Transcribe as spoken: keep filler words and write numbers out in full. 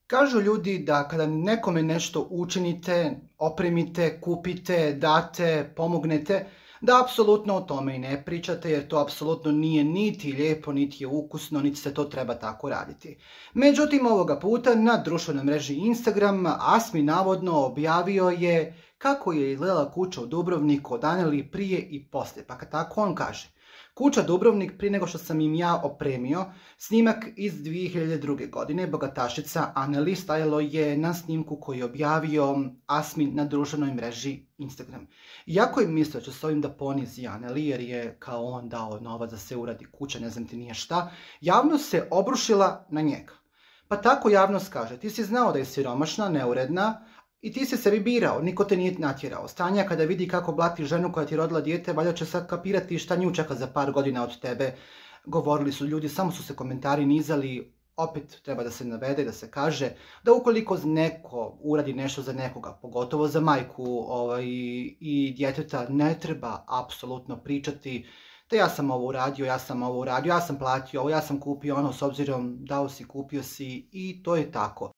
Kažu ljudi da kada nekome nešto učinite, opremite, kupite, date, pomognete, da apsolutno o tome i ne pričate jer to apsolutno nije niti lijepo, niti je ukusno, niti se to treba tako raditi. Međutim, ovoga puta na društvenoj mreži Instagram Asmi navodno objavio je kako je izgledala kuća u Dubrovniku od Aneli prije i poslije. Pa kad tako on kaže: Kuća Dubrovnik prije nego što sam im ja opremio, snimak iz dvije hiljade druge. godine, bogatašica Aneli stajalo je na snimku koji je objavio Asmi na društvenoj mreži Instagram. Iako je mislio da će s ovim da ponizi Aneli jer je kao on dao novac da se uradi kuća, ne znam ti nije šta, javnost se obrušila na njega. Pa tako javnost kaže: ti si znao da je siromašna, neuredna, i ti si sebi birao, niko te nije natjerao. Stanja kada vidi kako blati ženu koja ti je rodila dijete, valjda će sad kapirati šta nju čeka za par godina od tebe. Govorili su ljudi, samo su se komentari nizali. Opet treba da se navede, da se kaže da ukoliko neko uradi nešto za nekoga, pogotovo za majku ovaj, i djeteta, ne treba apsolutno pričati da ja sam ovo uradio, ja sam ovo uradio, ja sam platio ovo, ja sam kupio ono, s obzirom dao si, kupio si, i to je tako.